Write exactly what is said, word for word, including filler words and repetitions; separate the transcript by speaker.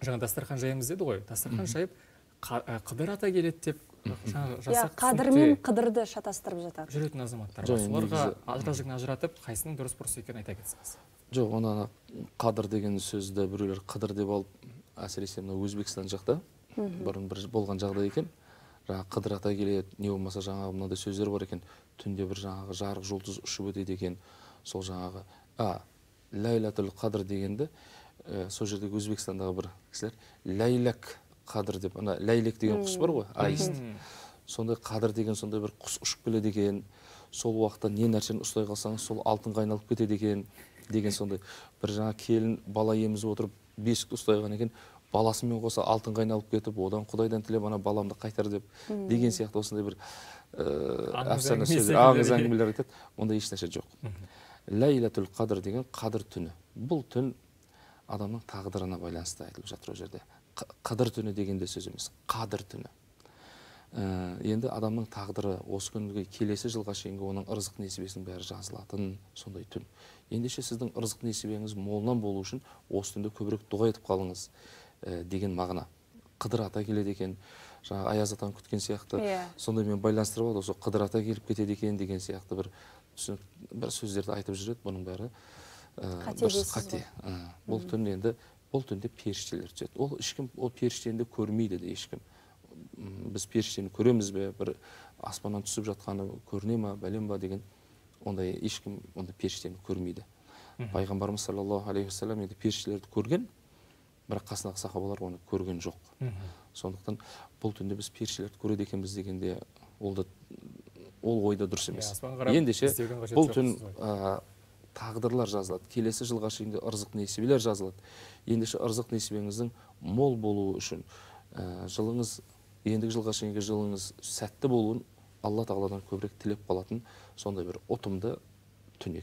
Speaker 1: Жаңа дастархан жайымыз деді ғой, дастархан жайып Қыдыр ата келеді деп
Speaker 2: жасақ қадыр мен қыдырды шатастырып жатады.
Speaker 1: Жүретін азаматтар бар. Соларға ажыражығын ажыратып, қайсының дұрыс бұрыс екенін айта кетсеңіз.
Speaker 3: Жоқ, оны қадыр деген сөзді біреулер қыдыр деп алып, әсіресе мына Өзбекстан жақта бұрын бір болған жағдай екен. Жаңағы Қыдыр ата келеді, не болмаса жаңағы мынандай сөздер бар екен. Түнде бір жаңағы жарық жұлдыз ұшып өтеді екен. Сол жаңағы а Ләйләтул қадыр дегенді сол жердегі Өзбекстандағы бір кісілер ләйләк қадыр деп, ана ләйлек деген құс бар ғой, аист. Сондай қадыр деген сондай бір құс ұшып келеді екен. Сол уақытта не нәрсені ұстай қалсаңыз, сол алтынға айналып кетеді екен деген сондай. Бір жаңа келін бала емізіп отырып бесікті ұстайған екен, баласымен қоса алтынға айналып кетіп, одан Құдайдан тілеп ана баламды қайтар деп деген сияқты осындай бір әфсана сөздер, аңыз әңгімелер айтады. Онда ешнәрсе жоқ. Ләйләтул қадыр деген қадір түні. Бұл түн адамның тағдырына байланысты айтылып жатыр ол жерде. Қадір түні дегенде сөз емес, қадір түні. Енді адамның тағдыры осы күнге келесі жылға шейінгі оның ырзық несібесінің бәрі жазылатын сондай түн. Ендеше сіздің ырзық несібеңіз молынан болу үшін осы түнде көбірек дұға етіп қалыңыз деген мағына. Қыдыр ата келеді екен, жаңа Аяз атаны күткен сияқты, сондаймен байланыстырып алды, осы Қыдыр ата келіп кетеді екен деген сияқты бір бір сөздерді айтып жүреді. Бұның бәрі дұрыс қате. Бұл түн енді бұл түнде періштелер түседі. Ол ешкім ол періштені де көрмейді де ешкім. Біз періштені көреміз бе, бір аспаннан түсіп жатқаны көріне ма, бәлем ба деген ондай ешкім ондай періштені көрмейді. Пайғамбарымыз саллаллаху алейхи ва саллям енді періштелерді көрген, бірақ қасындағы сахабалар оны көрген жоқ. Сондықтан бұл түнде біз періштелерді көреді екенбіз дегенде ол ойда дұрыс емес. Ендеше бұл түн тағдырлар жазылады. Келесі жылға шейінгі ырзық несібелер жазылады. Ендеше ырзық несібеңіздің мол болуы үшін жылыңыз, ендігі жылға шейінгі жылыңыз сәтті болуын Алла тағаладан көбірек тілеп қалатын сондай бір ұтымды түн екен.